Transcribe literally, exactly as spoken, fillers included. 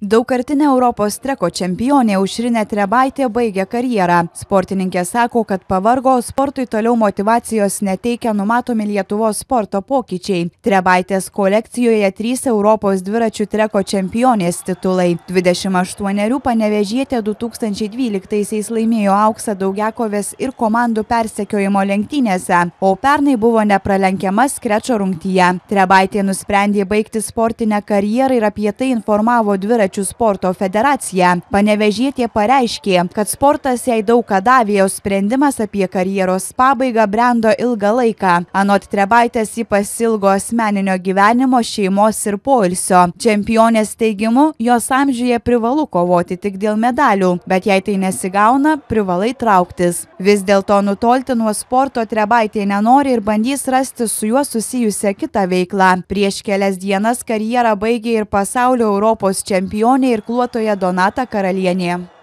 Daugkartinė Europos treko čempionė Aušrinė Trebaitė baigė karjerą. Sportininkė sako, kad pavargo, sportui toliau motyvacijos neteikia numatomi Lietuvos sporto pokyčiai. Trebaitės kolekcijoje trys Europos dviračių treko čempionės titulai. dvidešimt aštuonerių panevėžietė du tūkstančiai dvyliktaisiais laimėjo auksą daugiakovės ir komandų persekiojimo lenktynėse, o pernai buvo nepralenkiama skrečo rungtyje. Trebaitė nusprendė baigti sportinę karjerą ir apie tai informavo dviračių sporto federacija. Panevėžietė pareiškė, kad sportas jai daug ką davė, o sprendimas apie karjeros pabaigą brendo ilgą laiką. Anot Trebaitės ji pasilgo asmeninio gyvenimo, šeimos ir poilsio. Čempionės teigimu, jos amžiuje privalu kovoti tik dėl medalių, bet jei tai nesigauna, privalai trauktis. Vis dėlto nutolti nuo sporto Trebaitė nenori ir bandys rasti su juo susijusią kitą veiklą. Prieš kelias dienas karjerą baigė ir pasaulio Europos čempionė irkluotoja Donata Karalienė.